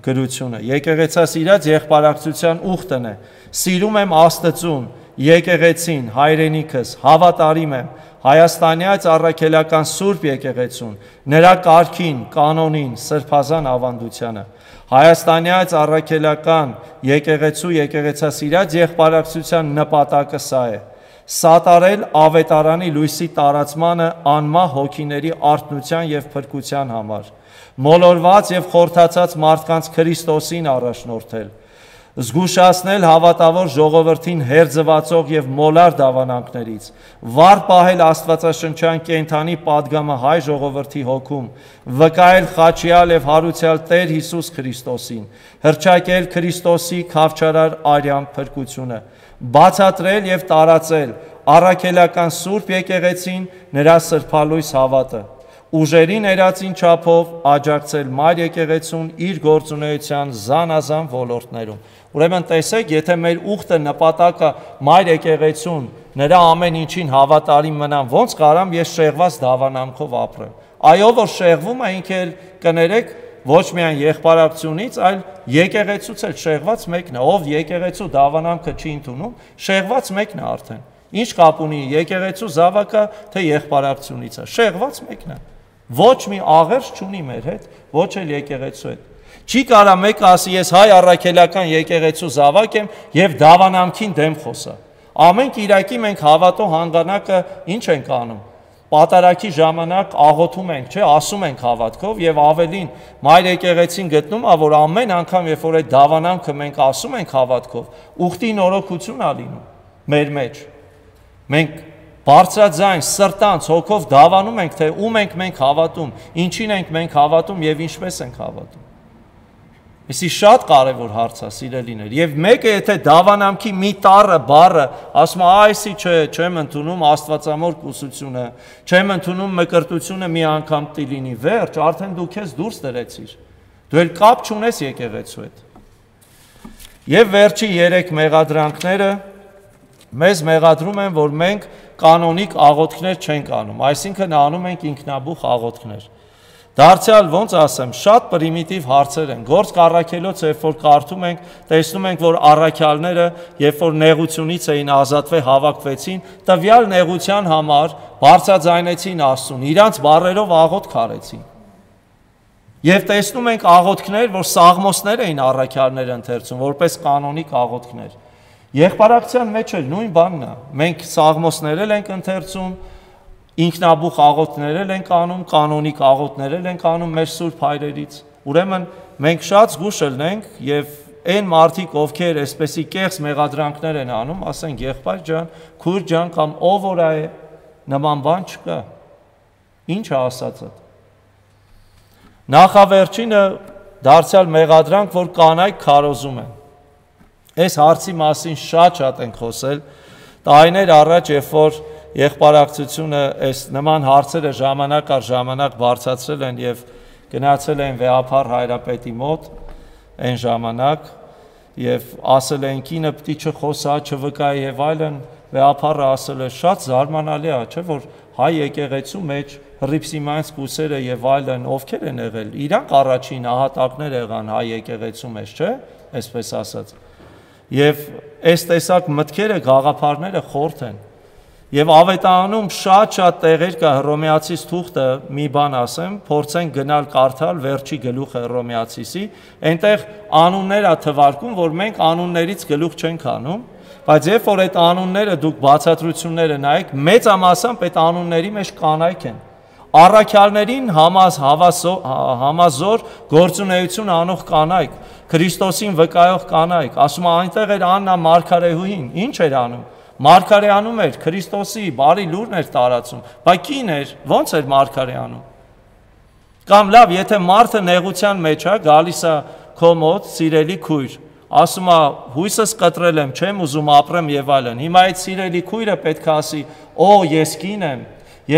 գրությունը։ Եկեղեցասիրած եղբարակցության ուխտն է. Սիրում եմ Աստծուն, եկեղեցին, հայրենիքս, հավատարիմ եմ Հայաստանյաց առաքելական Սուրբ եկեղեցուն, նրա կարգին, կանոնին, սրբազան ավանդությանը։ Հայաստանյաց առաքելական եկեղեցու եկեղեցասիրած եղբարակցության նպատակը սա է. սատարել ավետարանի լույսի տարածմանը անմահ հոգիների արթնության եւ փրկության համար, մոլորված եւ խորթացած մարդկանց Քրիստոսին առաջնորդել, զգուշացնել հավատավոր ժողովրդին հերձվածող եւ մոլար դավանանքներից, վառ պահել աստվածաշնչյան կենդանի падգամը հայ ժողովրդի հոգում, վկայել խաչյալ եւ հարուցյալ Տեր Հիսուս Քրիստոսին, հռչակել Քրիստոսի քավչարար արյան փրկությունը, բացատրել եւ տարածել առաքելական Սուրբ եկեղեցին նրա սրբալույս հավատը, ուժերի ներածին չափով աջակցել մայր եկեղեցուն իր գործունեության զանազան ոլորտներում։ Ուրեմն տեսեք, եթե մեր ուխտը նպատակը մայր եկեղեցուն նրա ամեն ինչին հավատարիմ մնան, ոնց կարամ ես շեղված դավանամքով ապրեմ։ Այո, որ շեղվում է, ինքը կներեք ոչ միայն եղբարակցությունից, այլ եկեղեցուց էլ շեղված մեկն է, ով եկեղեցու դավանամքը չի ընդունում, շեղված մեկն է արդեն։ Ինչ կապ ունի եկեղեցու զավակը, թե եղբարակցությունից է, շեղված մեկն է։ Ոչ մի աղերս չունի մեր հետ, ոչ էլ եկեղեցու հետ։ Չի կարա մեկը ասի ես հայ առաքելական եկեղեցու զավակ եմ եւ դավանամքին դեմ խոսա։ Ամեն կիրակի մենք հավատո հանգանակը ինչ ենք անում։ Պատարակի ժամանակ աղոթում ենք, չէ, ասում ենք հավատքով եւ ավելին մայր եկեղեցին գտնում է, որ ամեն անգամ երբ որ այդ դավանամքը մենք ասում ենք հավատքով, ուխտի նորոգություն ա լինում մեր մեջ։ Մենք բարձրաձայն սրտանց հոգով դավանում ենք, թե ում ենք մենք հավատում, ինչին ենք մենք հավատում եւ ինչպես ենք հավատում։ Իսկ շատ կարևոր հարց է, սիրելիներ, եւ մեկը եթե դավանամքի մի տառը բառը ասում է այսի չեմ ընդունում աստվածամոր կուսությունը, չեմ ընդունում մկրտությունը մի անգամ տիլինի, վերջ, արդեն դու քեզ դուրս դրեցիր։ Դու էլ կապ չունես եկեղեցու հետ։ Եվ վերջի 3 մեղադրանքները մեզ մեղադրում են, որ մենք կանոնիկ աղոթքներ չենք անում, այսինքն անում ենք ինքնաբուխ աղոթքներ։ Դարձյալ ոնց ասեմ, շատ պրիմիտիվ հարցեր են։ Գործք առաքելոց, երբ որ կարդում ենք, տեսնում ենք, որ առաքյալները, երբ որ նեղությունից էին ազատվել, հավաքվեցին, տվյալ նեղության համար բարձրաձայնեցին Աստծուն, իրանց բառերով աղոթք արեցին։ Եվ տեսնում ենք աղոթքներ, որ սաղմոսներ էին առաքյալները ընթերցում, որպես կանոնիկ աղոթքներ։ Եղբարակցության մեջ էլ նույն բանն է։ Մենք սաղմոսներ ենք ընթերցում, ինքնաբուխ աղոթքներ ենք անում, կանոնիկ աղոթքներ ենք անում մեր սուրբ հայրերից։ Ուրեմն մենք շատ զգուշ ելնենք եւ այն մարդիկ, ովքեր այսպեսի կեղծ մեղադրանքներ են անում, ասենք եղբայր ջան, քույր ջան կամ ով որ է, նման բան չկա։ Ինչ է ասածը։ Նախավերջինը դարձյալ մեղադրանք, որ կանայք քարոզում են։ Այս հարցի մասին շատ ենք խոսել։ Տարիներ առաջ, երբ որ եղբարակցությունը այս նման հարցերը ժամանակ առ ժամանակ բարձրացրել են եւ գնացել են վեհափառ հայրապետի մոտ այն ժամանակ եւ ասել են կինը պիտի չխոսա, չվկայի եւ այլն, վեհափառը ասել է շատ զարմանալի է, չէ՞ որ հայ եկեղեցու մեջ հռիփսիմանց կուսերը եւ այլն ովքեր են եղել, իրանք առաջին ահատակներ եղան հայ եկեղեցու մեջ, չէ՞, այսպես ասած։ Եվ այս տեսակ մտքերը գաղափարները խորթ են։ Եվ ավետարանում շատ տեղեր կա Հռոմեացիս թուղթը, մի բան ասեմ, փորձենք գնալ կարդալ վերջի գլուխը Հռոմեացիսի, այնտեղ անուններ է թվարկում, որ մենք անուններից գլուխ չենք անում, բայց երբ որ այդ անունները դուք բացատրությունները նայեք, մեծամասամբ այդ անունների մեջ կանայք են։ Առաքյալներին համազոր գործունեություն անող կանայք, Քրիստոսին վկայող կանայք, ասում է այնտեղ էր Աննա Մարգարեհուին, ինչ էր անում։ Մարգարեանում էր, Քրիստոսի բարի լուրն էր տարածում, բայց կին էր, ոնց էր մարգարեանում։ Կամ լավ, եթե մարդը նեղության մեջ է, գալիս է քո մոտ, սիրելի քույր, ասում է հույսս կտրել եմ, չեմ ուզում ապրեմ եւ այլն։ Հիմա այդ սիրելի քույրը պետք է ասի, օ, ես կին եմ,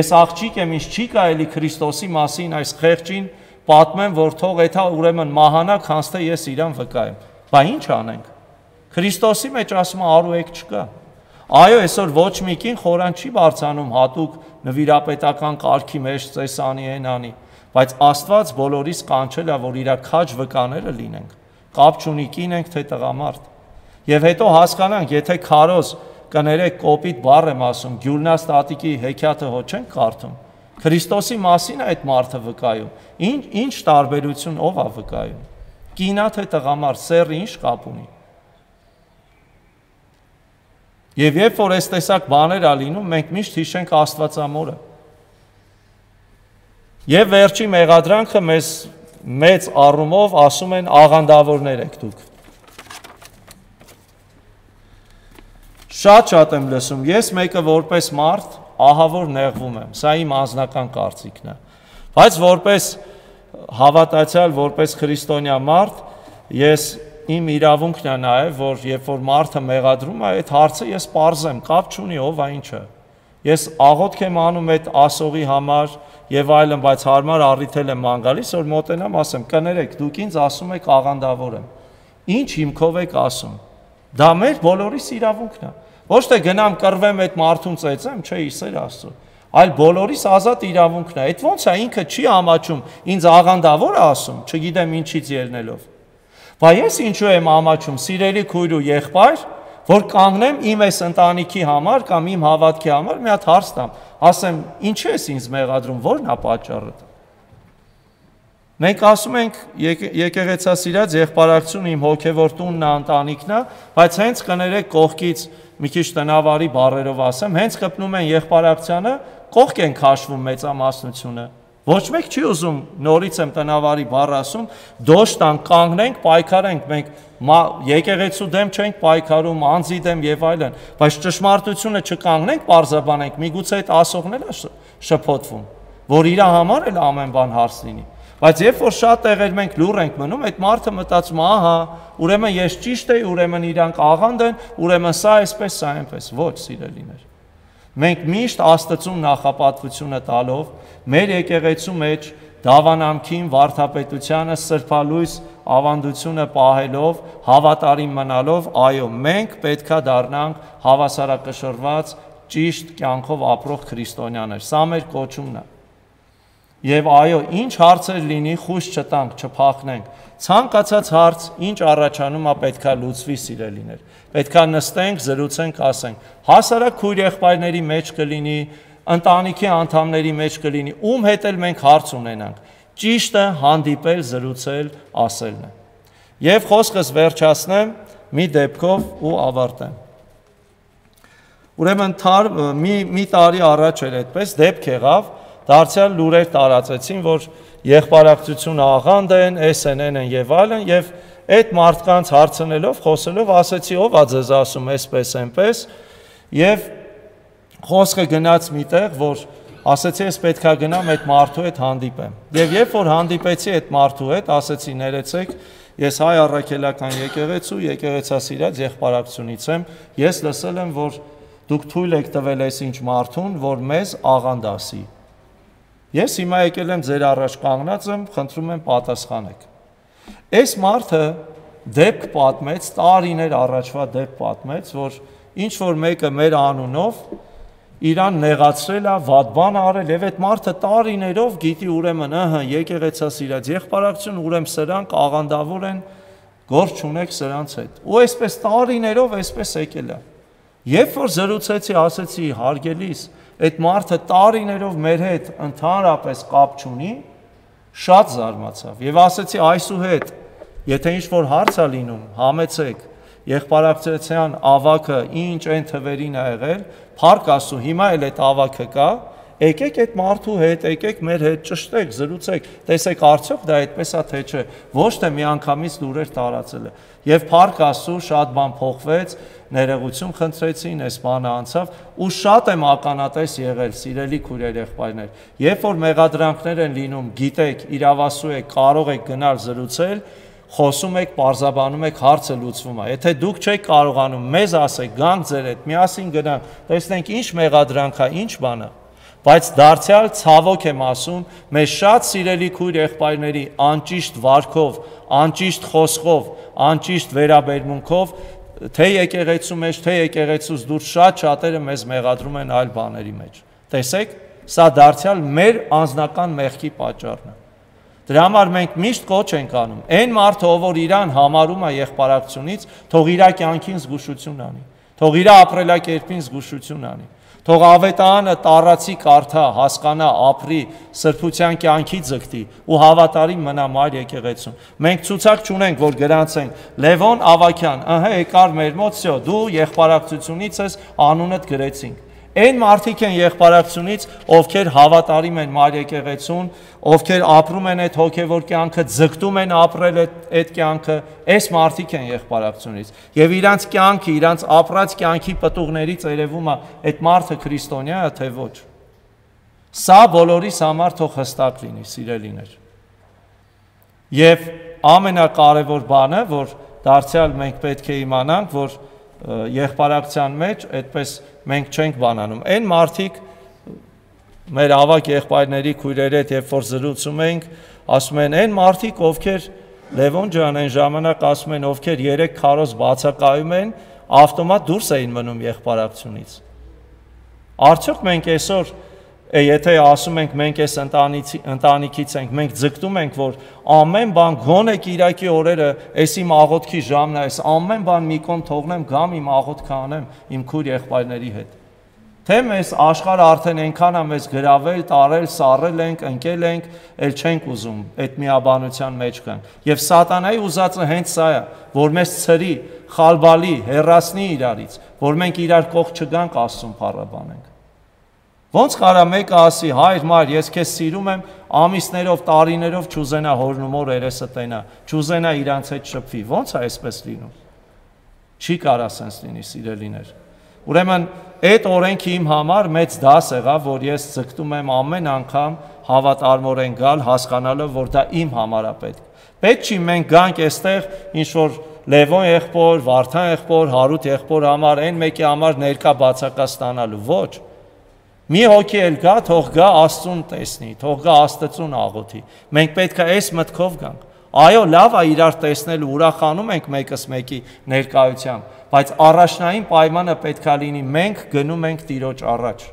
ես աղջիկ եմ, ինձ չի կարելի Քրիստոսի մասին այս խեղճին պատմեմ, որ թող էթա ուրեմն մահանա, քանց թե ես իրան վկայեմ։ Բա ինչ անենք։ Քրիստոսի մեջ ասում է արուեք չկա։ Այո, այսօր ոչ մի կին խորան չի բարձանում հատուկ նվիրապետական կարգի մեջ ծեսանի ենանի, բայց Աստված բոլորիս կանչել է, որ իր քաջ վկաները լինենք, կապ չունի կին ենք թե տղամարդ։ Եվ հետո հասկանանք, եթե քարոզ կներեք կոպիտ բառ եմ ասում, Գյուլնաս տատիկի հեքիաթը հո չենք կարդում, Քրիստոսի մասին է այդ մարդը վկայում, ինչ տարբերություն ով է վկայում, կինա թե տղամարդ, սեռը ինչ կապ ունի։ Եվ երբ որ այս տեսակ բաներ ա լինում, մենք միշտ հիշենք Աստվածամորը։ Եվ վերջի մեղադրանքը մեզ մեծ առումով ասում են աղանդավորներ եք դուք։ Շատ եմ լսում, ես մեկը որպես մարդ ահավոր նեղվում եմ, սա իմ անձնական կարծիքն է, բայց որպես հավատացյալ, որպես քրիստոնյա մարդ, ես իմ իրավունքն է նաև, որ երբ որ մարդը մեղադրում է, այդ հարցը ես պարզեմ, կապ չունի ով է ինչը։ Ես աղոթք եմ անում այդ ասողի համար եւ այլն, բայց հարմար առիթել եմ ման գալիս, որ մոտենամ ասեմ, կներեք, դուք ինձ ասում եք աղանդավոր եմ։ Ինչ հիմքով եք ասում։ Դա մեր բոլորիս իրավունքն է։ Ոչ թե գնամ կռվեմ այդ մարդուն ծեծեմ, չէ, իսեր Աստծո, այլ բոլորիս ազատ իրավունքն է։ Այդ ոնց է ինքը չի ամաչում, ինձ աղանդավոր է ասում, չգիտեմ ինչից ելնելով։ Բայց ես ինչու եմ ամաչում, սիրելի քույր ու եղբայր, որ կանգնեմ իմ այս ընտանիքի համար կամ իմ հավատքի համար մի հատ հարց տամ, ասեմ, ինչի ես ինձ մեղադրում, ո՞րն է պատճառը։ Մենք ասում ենք եկեղեցասիրած եղբայրակցություն իմ հոգևոր տունն է, ընտանիքն է, բայց հենց կներեք կողքից մի քիչ տնավարի բառերով ասեմ, հենց խփնում են եղբայրակցությանը, կողք են քաշվում մեծամասնությունը։ Ոչ մեկ չի ուզում, նորից եմ տնավարի բառ ասում, դոշտան կանգնենք, պայքարենք, մենք եկեղեցու դեմ չենք պայքարում, անձի դեմ եւ այլն, բայց ճշմարտությունը չկանգնենք, պարզաբանենք, միգուցե այդ ասողն էլ է շփոթվում, որ իր համար էլ ամեն բան հարց լինի։ Բայց երբ որ շատ տեղեր մենք լուռ ենք մնում, այդ մարդը մտածում, ահա, ուրեմն ես ճիշտ եի, ուրեմն իրանք աղանդ են, ուրեմն սա այսպես, սա այնպես, ոչ սիրելիներ։ Մենք միշտ Աստծուն նախապատվությունը տալով, մեր եկեղեցու մեջ դավանամքին, վարդապետությանը, սրբալույս ավանդությունը պահելով, հավատարիմ մնալով, այո, մենք պետքա դառնանք հավասարակշռված, ճիշտ կյանքով ապրող քրիստոնյաներ։ Սա մեր կոչումն է։ Եվ այո, ինչ հարցեր լինի, խույս չտանք, չփախնենք։ Ցանկացած հարց, ինչ առաջանում է, պետքա լուծվի, սիրելիներ։ Պետքա նստենք, զրուցենք, ասենք։ Հասարակ քույր եղբայրների մեջ կլինի, ընտանիքի անդամների մեջ կլինի, ում հետ էլ մենք հարց ունենանք։ Ճիշտը հանդիպել, զրուցել, ասելն է։ Եվ խոսքս վերջացնեմ մի դեպքով ու ավարտեմ։ Ուրեմն մի տարի առաջ էր այդպես դեպք եղավ, դարձյալ լուրեր տարածեցին, որ եղբայրակցություն աղանդ են, SNN են եւ այլն, եւ այդ մարդկանց հարցնելով, խոսելով ասեցի, ով է ձեզ ասում այսպես, այնպես, եւ խոսքը գնաց միտեղ, որ ասեցի, ես պետքա գնամ այդ մարդու հետ հանդիպեմ։ Եվ երբ որ հանդիպեցի այդ մարդու հետ, ասեցի, ներեցեք, ես հայ առաքելական եկեղեցու, եկեղեցասիրած եղբայրակցությունից եմ, ես լսել եմ, որ դուք թույլ եք տվել այսինչ մարդուն, որ մեզ աղանդ ասի։ Ես հիմա եկել եմ ձեր առաջ կանգնած եմ, խնդրում եմ պատասխանեք։ Այս մարդը դեպք պատմեց, տարիներ առաջվա դեպք պատմեց, որ ինչ որ մեկը մեր անունով իրան նեղացրել է, վատ բան արել, եւ այդ մարդը տարիներով գիտի ուրեմն, եկեղեցասիրած եղբայրակցություն, ուրեմն սրանք աղանդավոր են, գործ չունեք սրանց հետ։ Ու այսպես տարիներով այսպես եկել է։ Երբ որ զրուցեցի, ասեցի, հարգելիս, այդ մարդը տարիներով մեր հետ ընդհանրապես կապ չունի, շատ զարմացավ եւ ասեցի այսուհետ, եթե ինչ-որ հարց է լինում, համեցեք, եղբայրակցության ավակը ինչ այն թվերին է եղել, փառք Աստծո, հիմա էլ այդ ավակը կա, եկեք այդ մարդու հետ, եկեք մեր հետ ճշտեք, զրուցեք, տեսեք արդյոք դա այդպես է թե չէ, ոչ թե միանգամից լուրեր տարածել է։ Եվ փառք Աստծո, շատ բան փոխվեց, ներողություն խնդրեցին, այս բանը անցավ ու շատ եմ ականատես եղել, սիրելի քույրեր եղբայրներ։ Երբ որ մեղադրանքներ են լինում, գիտեք, իրավասու եք, կարող եք գնալ զրուցել, խոսում եք, պարզաբանում եք, հարցը լուծվում է։ Եթե դուք չեք կարողանում, մեզ ասեք, գանք ձեր հետ, միասին գնանք, տեսնենք ինչ մեղադրանք է, ինչ բան է։ Բայց դարձյալ ցավոք եմ ասում, մեր շատ սիրելի քույր եղբայրների անճիշտ վարքով, անճիշտ խոսքով, անճիշտ վերաբերմունքով, թե եկեղեցու մեջ, թե եկեղեցուց դուրս շատ շատերը մեզ մեղադրում են այլ բաների մեջ։ Տեսեք, սա դարձյալ մեր անձնական մեղքի պատճառն է։ Դրա համար մենք միշտ կոչ ենք անում, այն մարդը, որ իրան համարում է եղբայրակցությունից, թող իր կյանքին զգուշություն անի, թող իր ապրելակերպին զգուշություն անի, Թող ավետարանը տարածի կարդա, հասկանա, ապրի, սրբության կյանքի ձգտի ու հավատարիմ մնա Մայր եկեղեցուն։ Մենք ցուցակ չունենք, որ գրանցենք Լևոն Ավագյան, եկար մեր մոտ, դու եղբարակցությունից ես, անունդ գրեցինք։ Այն մարդիկ են եղբարակցությունից, ովքեր հավատարիմ են Մայր եկեղեցուն, ովքեր ապրում են այդ հոգևոր կյանքը, ձգտում են ապրել այդ կյանքը, այս մարդիկ են եղբարակցությունից։ Եվ իրանց կյանքը, իրանց ապրած կյանքի պտուղներից երևում է այդ մարդը քրիստոնյա է, թե ոչ։ Սա բոլորիս համար թող հստակ լինի, սիրելիներ։ Եվ ամենակարևոր բանը, որ դարձյալ մենք պետք է իմանանք, որ եղբարակցության մեջ այդպես մենք չենք բանանում։ Այն մարդիկ մեր ավակ եղբայրների քույրերի հետ երբ որ զրուցում ենք, ասում են այն մարդիկ, ովքեր Լևոն ջան այն ժամանակ ասում են, ովքեր 3 քարոզ բացակայում են, ավտոմատ դուրս էին մնում եղբարակցությունից։ Արդյոք մենք այսօր եթե ասում ենք մենք այս ընտանիքից ենք, մենք ձգտում ենք, որ ամեն բան գոնե Կիրակի օրերը, այս իմ աղոթքի ժամն է, այս ամեն բան մի կողմ թողնեմ, գամ իմ աղոթքը անեմ իմ քույր եղբայրների հետ։ Թե մեզ աշխարհը արդեն այնքան է մեզ գրավել, տարել, սառել ենք, ընկել ենք, ել չենք ուզում այդ միաբանության մեջ գան։ Եվ սատանայի ուզածը հենց սա է, որ մեզ ցրի, խալբալի, հեռացնի իրարից, որ մենք իրար կողք չգանք Աստծուն փառաբանենք։ Ոնց կարա մեկը ասի, հայր մայր, ես քեզ սիրում եմ, ամիսներով, տարիներով չուզենա հորն ու մոր երեսը տենա, չուզենա իրանց հետ շփվի, ոնց է այսպես լինում։ Չի կարա սենց լինի, սիրելիներ։ Ուրեմն այդ օրենքը իմ համար մեծ դաս եղավ, որ ես ձգտում եմ ամեն անգամ հավատարմորեն գալ, հասկանալով, որ դա իմ համար է պետք։ Պետք չի մենք գանք այստեղ ինչ որ Լևոն եղբոր, Վարդան եղբոր, Հարութ եղբոր համար, այն մեկի համար ներկա բացակա ստանալու, ոչ։ Մի հոգի էլ գա, թող գա Աստծուն տեսնի, թող գա Աստծուն աղոթի։ Մենք պետք է այս մտքով գանք։ Այո, լավ է իրար տեսնել ու ուրախանում ենք մեկս մեկի ներկայությամբ, բայց առաջնային պայմանը պետք է լինի մենք գնում ենք Տիրոջ առաջ։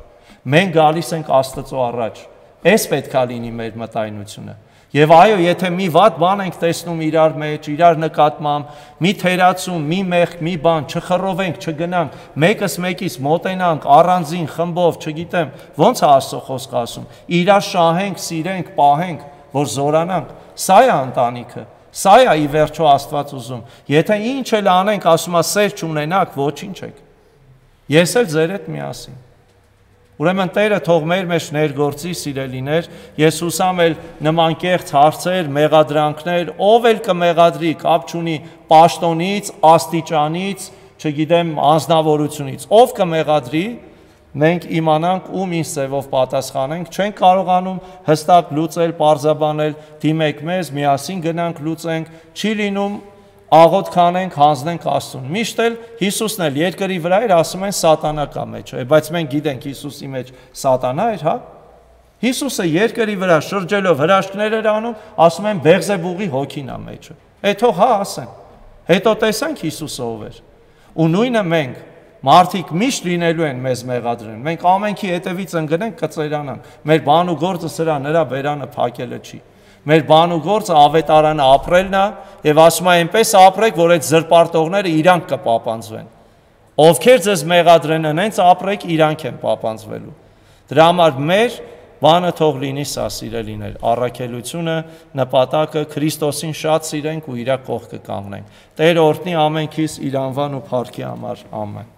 Մենք գալիս ենք Աստծո առաջ։ Այս պետք է լինի մեր մտայնությունը։ Եվ այո, եթե մի վատ բան ենք տեսնում իրար մեջ, իրար նկատմամբ, մի թերացում, մի մեղք, մի բան, չխռովենք, չգնանք, մեկս մեկից մոտենանք, առանձին, խմբով, չգիտեմ, ոնց է Աստծո խոսքը ասում, իրար շահենք, սիրենք, պահենք, որ զորանանք, սա է ընտանիքը, սա է ի վերջո Աստված ուզում, եթե ինչ էլ անենք, ասում է սեր չունենաք, ոչինչ եք, ես էլ ձեր հետ միասին։ Ուրեմն Տերը թող մեր մեջ ներգործի, սիրելիներ, ես հուսամ էլ նման կեղծ հարցեր, մեղադրանքներ, ով էլ կմեղադրի, կապ չունի պաշտոնից, աստիճանից, չգիտեմ, անձնավորությունից, ով կմեղադրի, մենք իմանանք ում ինչ ձևով պատասխանենք, չենք կարողանում հստակ լուծել, պարզաբանել, դիմեք մեզ, միասին գնանք լուծենք, չի լինում աղոթք անենք, հանձնենք Աստծուն։ Միշտ էլ Հիսուսն էլ երկրի վրա էր, ասում են սատանա կա մեջ, բայց մենք գիտենք Հիսուսի մեջ սատանա էր, հա։ Հիսուսը երկրի վրա շրջելով հրաշքներ էր անում, ասում են Բեղզեբուղի հոգին է մեջը։ Թող հա ասեն։ Հետո տեսանք Հիսուսը ով էր։ Ու նույնը մենք մարդիկ միշտ լինելու են մեզ մեղադրեն։ Մենք ամենքի հետևից ընկնենք, կծերանանք։ Մեր բան ու գործը սրա նրա բերանը փակելը չի։ Մեր բան ու գործը ավետարանը ապրելն է եւ ասում է այնպես ապրեք, որ այդ զրպարտողները իրանք կպապանձվեն։ Ովքեր ձեզ մեղադրեն, հենց ապրեք, իրանք են պապանձվելու։ Դրա համար մեր բանը թող լինի սա, սիրելիներ, առաքելությունը, նպատակը Քրիստոսին շատ սիրենք ու իր կողքը կանգնենք։ Տեր օրհնի ամենքիս իր անվան ու փառքի համար, ամեն։